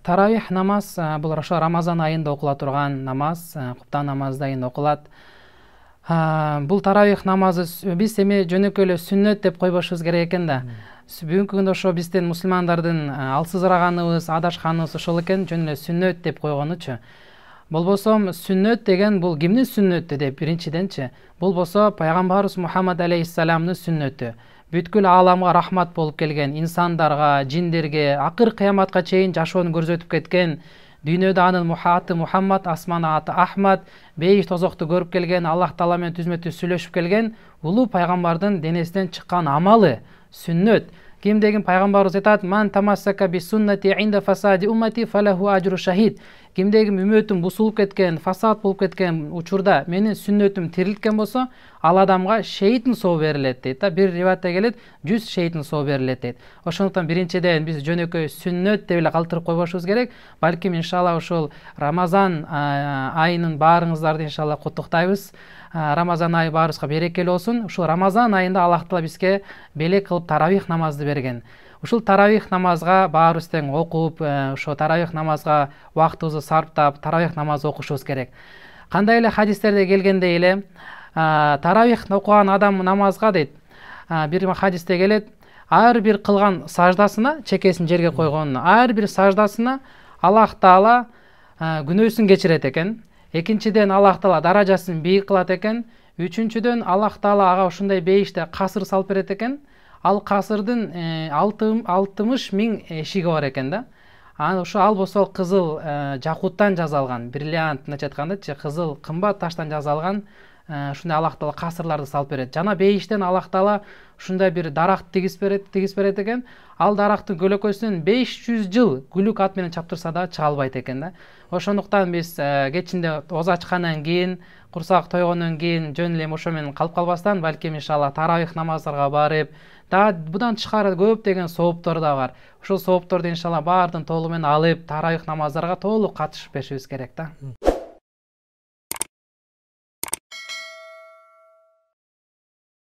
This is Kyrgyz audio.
Таравих намаз бул ошо Рамазан айында окула турган намаз, куптан намазы айында окулат. Бул таравих намазы биз эми жөнөкөй эле сүннөт деп койбошубуз керек экен да. Бүгүнкү күндө ошо биздин мусулмандардын алсызраганыбыз, адашканыбыз ошол экен, жөн эле сүннөт деп койгонучу. Болбосо сүннөт деген бул кимдин сүннөтү деп биринчиденчи. Бул болсо пайгамбарыбыз Мухаммад алейхиссаламдын сүннөтү. Бүткүл ааламга рахмат болуп келген, инсандарга, жиндерге, акыр кыяматка чейин жашоону көрсөтүп кеткен, дүйнөдө анын аты Мухаммад, асманда аты Ахмад, бейиш тозокту көрүп келген, Аллах Таала менен түзмө түз сүйлөшүп келген улуу пайгамбардын денесинен чыккан амалы сүннөт. Ким деген пайгамбарыбыз айтат: "Ман тамассака би суннати инда фасади уммати фалаху ажру шахид." Кимдеги үмөтүм бусулуп кеткен, фасад болуп кеткен учурда менин сүннөтүм тирилткен болсо, ал адамга шейиттин сообу берилет дейт да. Бир риваятта келет, 100 шейиттин сообу берилет дейт. Ошондуктан биринчиден биз жөнөкөй сүннөт деп эле калтырып койбошубуз керек. Балким иншалла ушул Рамазан айынын баарыңыздарды иншалла куттуктайбыз. Рамазан айы баарыбызга берекелүү болсун. Ушул Рамазан айында Аллах Таала бизге белек кылып таравих намазды берген. Ушул таравих намазга баарыбыз тең окуп, ошо таравих намазга убактыбызды сарптап, таравих намаз окушубуз керек. Кандай эле хадистерде келгендей эле, таравих окуган адам намазга дейт, бир хадисте келет, ар бир кылган саждасына, чекесин жерге койгонуна, ар бир саждасына Аллах Таала күнөөсүн кечирет экен. Экинчиден Аллах Таала даражасын бийик кылат экен. Үчүнчүдөн Аллах Таала ага ушундай бейиште касыр салып берет экен. Ал касырдын 60 миң эшиги бар экен да. Ошо ал болсо кызыл жакуттан жасалган, бриллиант мындайча айткандачы, кызыл кымбат таштан жасалган ушундай Аллах Таала касырларды салып берет. Жана бейиштен Аллах Таала ушундай бир даракт тигиз берет экен. Ал дарактын көлөкөсүнөн 500 жыл күлүк ат менен чаптырса да чыга албайт экен да. Ошондуктан биз кечинде оозу ачкандан кийин, курсак тойгондон кийин жөн эле ошо менен калып калбастан, балким иншалла таравих намаздарга барып, дагы будан тышкары көптөгөн сооптор да бар. Ушул соопторду иншалла баардын толугу менен алып, таравих намаздарга толук катышып беришибиз керек да.